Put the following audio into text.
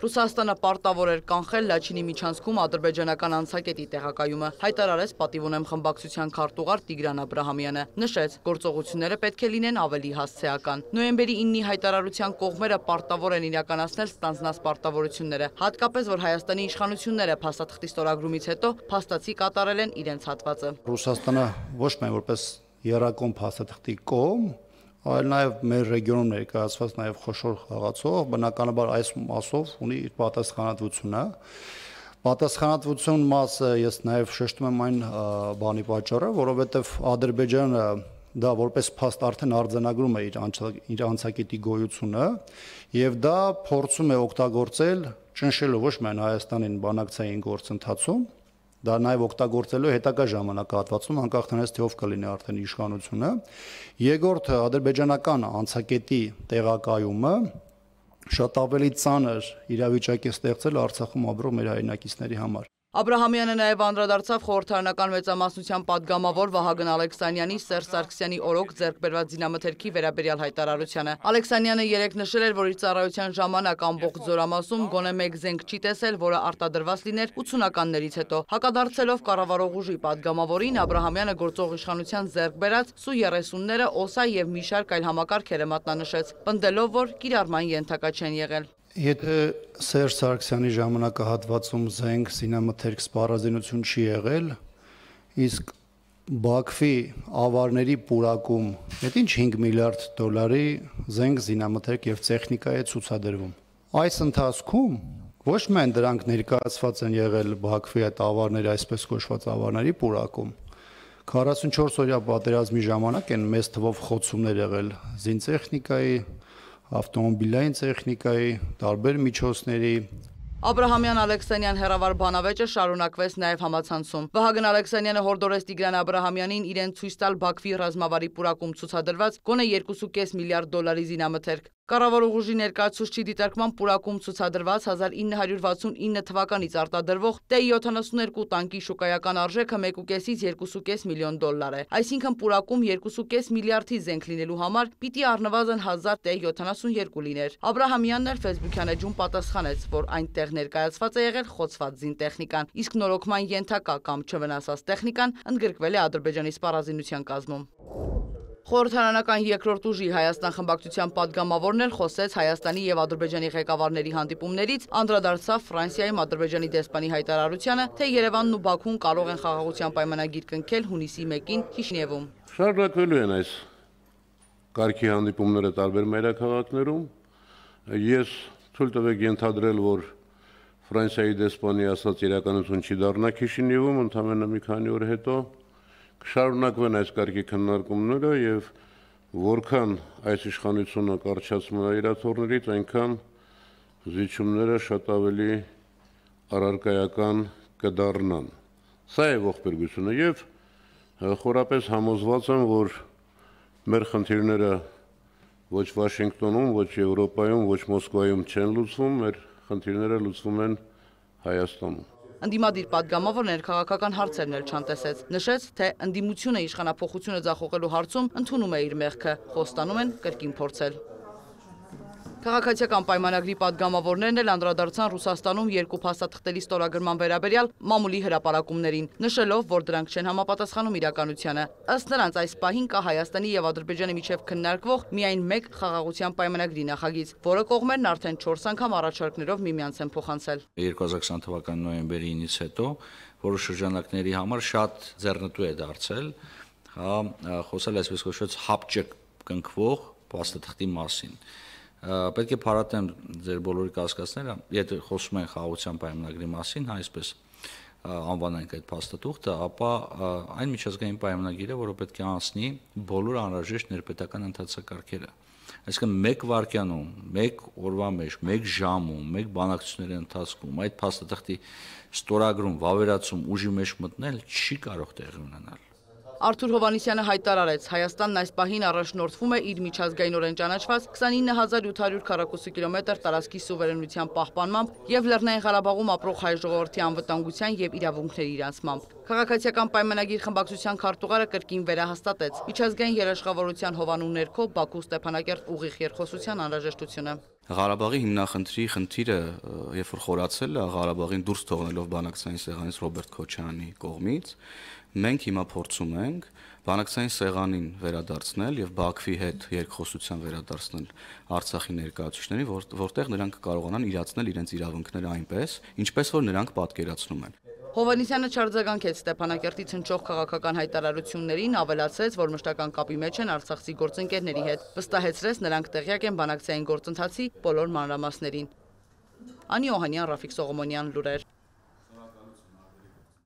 Ռուսաստանը պարտավոր էր կանխել Լաչինի միջանցքում ադրբեջանական անցակետի տեղակայումը, հայտարարեց «Պատիվ ունեմ» խմբակցության քարտուղար Տիգրան Աբրահամյանը, նշեց, գործողությունները պետք է լինեն ավելի հասցեական։ Նոյեմբերի 9-ի հայտարարության կողմերը պարտավոր են իրականացնել ստանձնած պարտավորությունները, հատկապես որ Հայաստանի իշխանությունները փաստաթղթի ստորագրումից հետո փաստացի կատարել են իրենց հատվածը։ Ռուսաստանը ոչ միայն որպես եռակողմ փաստաթղթի կողմ, այլ նաև մեր ռեգիոնում ներկայացված նաև խոշոր խաղացող, բնականաբար այս մասով ունի իր պատասխանատվությունը։ Պատասխանատվություն մասը ես նաև շեշտում եմ այն բանի պատճառը, որովհետև Ադրբեջանը դա որպես փաստ արդեն արձանագրում է իր անցակետի գոյությունը եւ դա փորձում է օգտագործել ճնշելու ոչ միայն Հայաստանին բանակցային գործընթացում, դա նաև օգտագործելու հետագա ժամանակահատվածում անկախ նրանից թե ով կլինի արդեն իշխանությունը։ Երկրորդը ադրբեջանական անցակետի տեղակայումը շատ ավելի ծանր իրավիճակ է ստեղծել Արցախում ապրող մեր հայրենակիցների համար։ Աբրահամյանը նաև անդրադարձավ խորհրդարանական մեծամասնության падգամավոր Վահագն Ալեքսանյանի Սերժ Սարգսյանի օրոք ձեռք բերված զինամթերքի վերաբերյալ հայտարարությանը։ Ալեքսանյանը երեկ նշել էր, որ իր ծառայության ժամանակ ամբողջ Զորամասում գոնե մեկ զենք չի տեսել, որը արտադրված լիներ 80-ականներից հետո։ Հակադարձելով կառավարող ուժի падգամավորին, Աբրահամյանը գործող իշխանության ձեռք բերած Սու-30-ները, ՕՍԱ եւ մի շարք այլ համակարգեր է մատնանշեց, պնդելով, որ կիրառման ենթակա չեն եղել։ Եթե Սերժ Սարգսյանի ժամանակահատվածում զենք զինամթերք սպառազինություն չի եղել, իսկ Բաքվի ավարների պուրակում այդ ինչ 5 միլիարդ դոլարի զենք զինամթերք եւ տեխնիկա է ցուցադրվում։ Այս ընթացքում ոչ միայն դրանք ներկայացված են եղել Բաքվի այդ ավարների, այսպես կոչված ավարների պուրակում, 44-օրյա պատերազմի ժամանակ են մեծ թվով խոցումներ եղել զինտեխնիկայի, ավտոմոբիլային տեխնիկայի, տարբեր միջոցների։ Աբրահամյան Ալեքսանյան հերավար բանավեճը շարունակվեց նաև համացանցում։ Վահագն Ալեքսանյանը հորդորեց Տիգրան Աբրահամյանին իրեն ցույց տալ Բաքվի ռազմավարի պուրակում ցուցադրված գոնե 2.5 միլիարդ դոլարի զինամթերք։ Կառավարող ուժի ներկայացուցչի դիտարկման պուրակում ցուցադրված 1969 թվականից արտադրվող T-72 տանկի շուկայական արժեքը 1.5-ից 2.5 միլիոն դոլար է։ Այսինքն պուրակում 2.5 միլիարդի զենք լինելու համար պիտի առնվազն 1000 T-72 լիներ։ Աբրահամյանն էլ Facebook-յան էջում պատասխանեց, որ այնտեղ ներկայացված է եղել խոցված զինտեխնիկան, իսկ նորոգման ենթակա կամ չվնասած տեխնիկան ընդգրկվել է Ադրբեջանի սպառազինության կազմում։ Խորհրդարանական երկրորդ ուժի Հայաստան խմբակցության падգամավորն էլ խոսեց Հայաստանի եւ Ադրբեջանի ղեկավարների հանդիպումներից, անդրադարձավ Ֆրանսիայում Ադրբեջանի դեսպանի հայտարարությանը, թե Երևանն ու Բաքուն կարող են խաղաղության պայմանագիր կնքել հունիսի 1-ին Քիշինևում։ Շարունակվելու են այս կարգի հանդիպումները տարբեր մայրաքաղաքներում։ Ես թույլ տվեք ենթադրել, որ Ֆրանսիայի դեսպանի ասած իրականություն չի դառնա Քիշինևում, ընդամենը մի քանի օր հետո կշարունակվեն այս կարգի քննարկումները եւ որքան այս իշխանությունը կարճացնում է իրաթորներից, այնքան զիջումները շատ ավելի առարկայական կդառնան։ Սա է ողբերգությունը եւ խորապես համոզված եմ, որ մեր խնդիրները ոչ Վաշինգտոնում, ոչ Եվրոպայում, ոչ Մոսկվայում չեն լուծվում, մեր խնդիրները լուծվում են Հայաստանում։ Ընդդիմադիր падգամավորն ներքաղաքական հարցերն էլ չանտեսեց, նշեց, թե ընդդիմությունը իշխանափոխությունը ձախողելու հարցում ընդունում է իր մեղքը, խոստանում են կրկին փորձել։ Քաղաքացիական պայմանագրի падգամավորներն էլ անդրադարձան Ռուսաստանում երկու փաստաթղթերի ստորագրման վերաբերյալ մամուլի հրապարակումներին, նշելով, որ դրանք չեն համապատասխանում իրականությանը։ Ըստ նրանց այս պահին կա Հայաստանի եւ Ադրբեջանի միջև քննարկվող միայն մեկ խաղաղության պայմանագրի նախագիծ, որը կողմերն արդեն 4 անգամ առաջարկներով միմյանց են փոխանցել։ 2020 թվականի նոյեմբերի 9-ից հետո որոշ շրջանակների համար շատ ձեռնտու է դարձել, խոսել այսպես կոչված հապճակ կնքվող փաստաթղթի մասին։ Պետք է փառատեմ ձեր բոլորի կասկածները, եթե խոսում են խաղաղության պայմանագրի մասին, այսպես անվանենք այդ փաստաթուղթը, ապա այն միջազգային պայմանագիրը, որը պետք է անցնի բոլոր անհրաժեշտ ներպետական ընթացակարգերը։ Այսինքն մեկ վայրկյանում, մեկ օրվա մեջ, մեկ ժամում, մեկ բանակցությունների ընթացքում այդ փաստաթղթի ստորագրում, վավերացում ուժի մեջ մտնել չի կարող տեղի ունենալ։ Արթուր Հովհաննիսյանը հայտարարեց, Հայաստանն այս պահին առաջնորդվում է իր միջազգայինորեն ճանաչված 29800 քառակուսի կիլոմետր տարածքի սուվերենության պահպանմամբ եւ Լեռնային Ղարաբաղում ապրող հայ ժողովրդի անվտանգության եւ իրավունքների իրացմամբ։ Քաղաքացիական պայմանագիր խմբակցության քարտուղարը կրկին վերահաստատեց միջազգային երաշխավորության հովանու ներքո Բաքու Ստեփանակերտ ուղիղ երկխոսության անհրաժեշտությունը։ Ղարաբաղի հիմնախնդրի խնդիրը, երբ որ խորացել է Ղարաբաղին դուրս թողնելով բանակցային սեղանից Ռոբերտ Քոչարյանի կողմից, մենք հիմա փորձում ենք բանակցային սեղանին վերադարձնել եւ Բաքվի հետ երկխոսության վերադարձնել Արցախի ներկայացուցիչներին, որտեղ նրանք կարողանան իրացնել իրենց իրավունքները այնպես, ինչպես որ նրանք պատկերացնում են։ Հովհաննիսյանը չարձագանքեց Ստեփանակերտից հնչող քաղաքական հայտարարություններին, ավելացրեց, որ մշտական կապի մեջ են արցախցի գործընկերների հետ, վստահեցրեց նրանք տեղյակ են բանակցային գործընթացի բոլոր մանրամասներին։ Անի Օհանյան, Ռաֆիկ Սողոմոնյան, լուրեր։